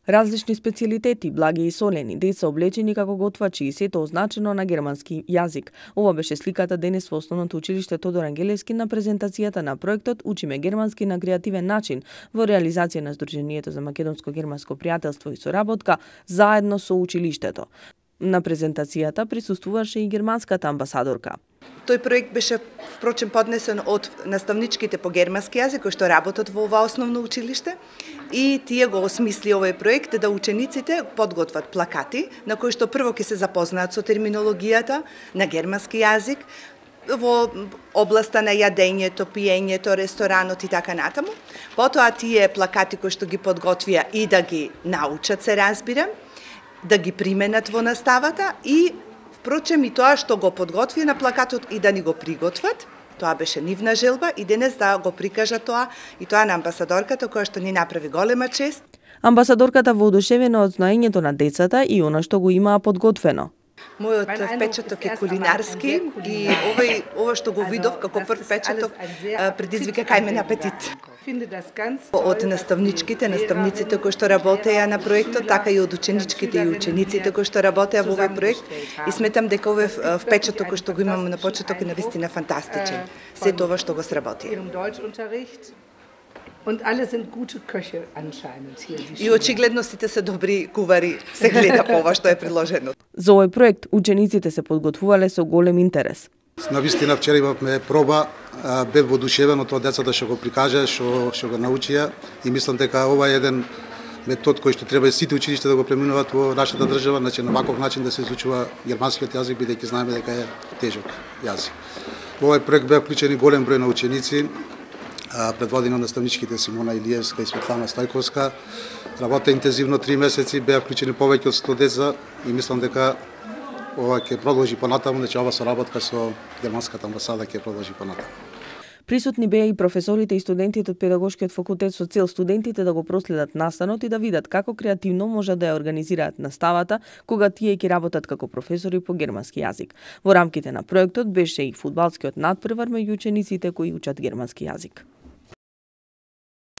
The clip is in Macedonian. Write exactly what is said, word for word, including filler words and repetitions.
Различни специјалитети, благи и солени, деца облечени како готвачи и сето означено на германски јазик. Ова беше сликата денес во Основното училиште Тодор Ангелевски на презентацијата на проектот Учиме германски на креативен начин во реализација на Сдруженијето за македонско-германско пријателство и соработка заедно со училиштето. На презентацијата присуствуваше и германската амбасадорка. Тој проект беше впрочем поднесен од наставничките по германски јазик кои што работат во ова основно училиште и тие го осмисли овој проект да учениците подготват плакати на кои што прво ќе се запознаат со терминологијата на германски јазик во областа на јадењето, пиењето, ресторанот и така натаму. Потоа тие плакати кои што ги подготвија и да ги научат, се разбира, да ги применат во наставата и впрочем и тоа што го подготвија на плакатот и да ни го приготват. Тоа беше нивна желба и денес да го прикажа тоа и тоа на амбасадорката која што ни направи голема чест. Амбасадорката воодушевена од знаењето на децата и она што го имаа подготвено. Мојот впечаток е кулинарски и овој ова што го видов како прв впечаток предизвика кај мене апетит. Од наставничките, наставниците кои што работеа на проектот, така и од ученичките и учениците кои што работеа во овој проект и сметам дека овој впечаток кој што го имам на почеток е навистина фантастичен. Сето ова што го сработи. Und alle sind gute Köche anscheinend hier. И очигледно сите се добри кувари, се гледа по ова што е предложено. За овој проект учениците се подготвувале со голем интерес. Навистина вчера имавме проба, бев воодушевен од тоа децата што го прикажа, што што го научија и мислам дека ова е еден метод кој што треба сите училишта да го преминуваат во нашата држава, значи на ваков начин да се изучува германскиот јазик бидејќи знаеме дека е тежок јазик. Во овој проект беа вклучени голем број на ученици, предводени од наставничките Симона Илиевска и Светлана Стојковска. Работа интензивно три месеци, беа вклучени повеќе од сто деца и мислам дека ова ќе продолжи понатаму, значи ова соработка со германската амбасада ќе продолжи понатаму. Присутни беа и професорите и студентите од педагошкиот факултет со цел студентите да го проследат настанот и да видат како креативно може да ја организираат наставата кога тие ќе работат како професори по германски јазик. Во рамките на проектот беше и фудбалскиот натпревар меѓу учениците кои учат германски јазик.